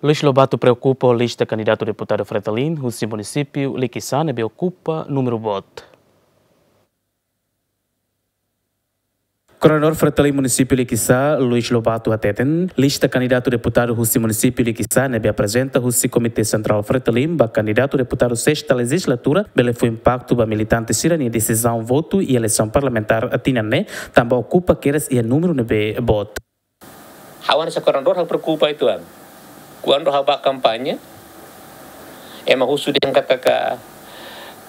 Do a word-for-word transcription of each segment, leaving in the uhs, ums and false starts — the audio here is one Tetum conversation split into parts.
Luis Lobato preokupa ho lista kandidatu deputadu Fretilin husi munisípiu Likisá ne'ebé okupa númeru boot. Koordenadór Fretilin munisípiu Likisá, Luis Lobato hateten, lista kandidatu deputadu husi munisípiu Likisá ne'ebé aprezenta husi Komité Sentrál Fretilin ba kandidatu deputadu sesta lejizlatura bele fó impaktu ba militante sira-nia desizaun votu iha eleisaun parlamentár tinan ne'e, tanba okupa kedas iha númeru ne'ebé boot. Ha'u hanesan koordenadór ha'u preokupa uitoan. Kuandu ha'u bá kampaña, ema husu dehan katak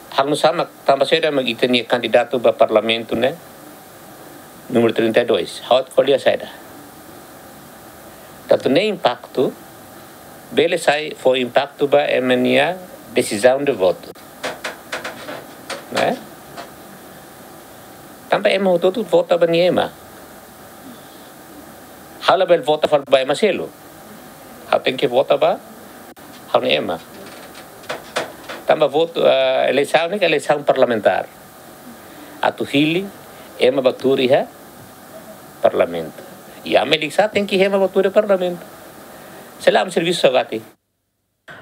halo nu'usá mak tanba saida mak ita-nia kandidatu ba parlamentu ne'e númeru trinta e dois. Ha'u atu ko'alia saida. Tantu ne'e impaktu, bele sai fó impaktu ba ema nia desizaun de votu. Ne'e? Tanba ema hotu-hotu vota ba nia ema. Ha'u labele vota fali ba ema seluk. Ha'u tenke vota ba ha'u-nia ema. Tanba votu, eh, eleisaun ne'e eleisaun parlamentár. Atu hili ema ba tuur iha parlamentu. Iha Likisá tenke iha ema ba tuur iha parlamentu. Se lae servisu saugati.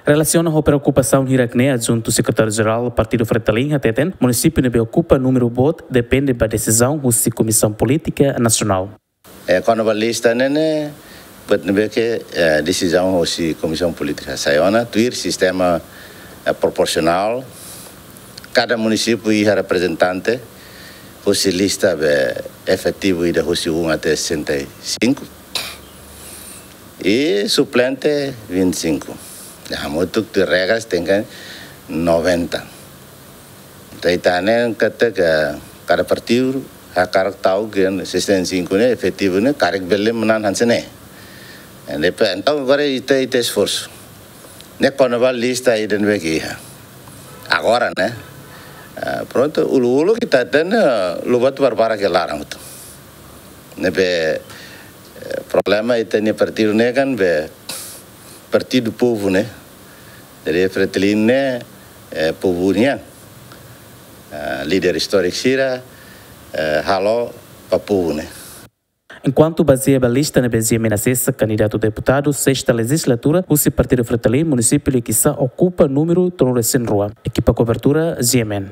Relasiona ho preokupasaun hirak-ne'e, Adjuntu Sekretáriu Jerál Partidu Fretilin hateten, munisípiu ne'ebé okupa númeru boot depende ba desizaun husi Komisaun Polítika Nasionál. Eh, kona-ba lista ne'e ne'e, buat ne'ebé ke, eh, desizaun husi Komisaun Polítika. Sai ona, tuir sistema, eh, proporsionál, kada munisípiu iha reprezentante, husi lista be efetivu ida husi um até sessenta e cinco. I suplente vinte e cinco. Hamutuk tuir regras tenke noventa. Entaun ita ne'e katak kada partidu hakarak tau ke sessenta e cinco ne'e efetivu ne'e karik bele manán hanesan ne'e. Entaun agora ita, ita esforsu. Ne'e kona-ba lista ida ne'ebé ke iha. Agora ne'e. Ah, prontu, uluk-uluk ita hatene, ah, Lobato barbarak iha laran hotu. Ne'ebé, eh, problema ita-nia partidu ne'e kan be partidu povu ne'e. Jadi Fretilin ne'e, eh, povu nian. Ah, líder istóriku sira, eh, halo ba povu ne'e. Enkuantu bazeia ba lista ne'ebé G M N asesa, kandidatu deputadu sesta lejizlatura husi Partidu Fretilin munisípiu Likisá okupa númeru tolu resin rua. Ekipa kobertura G M N.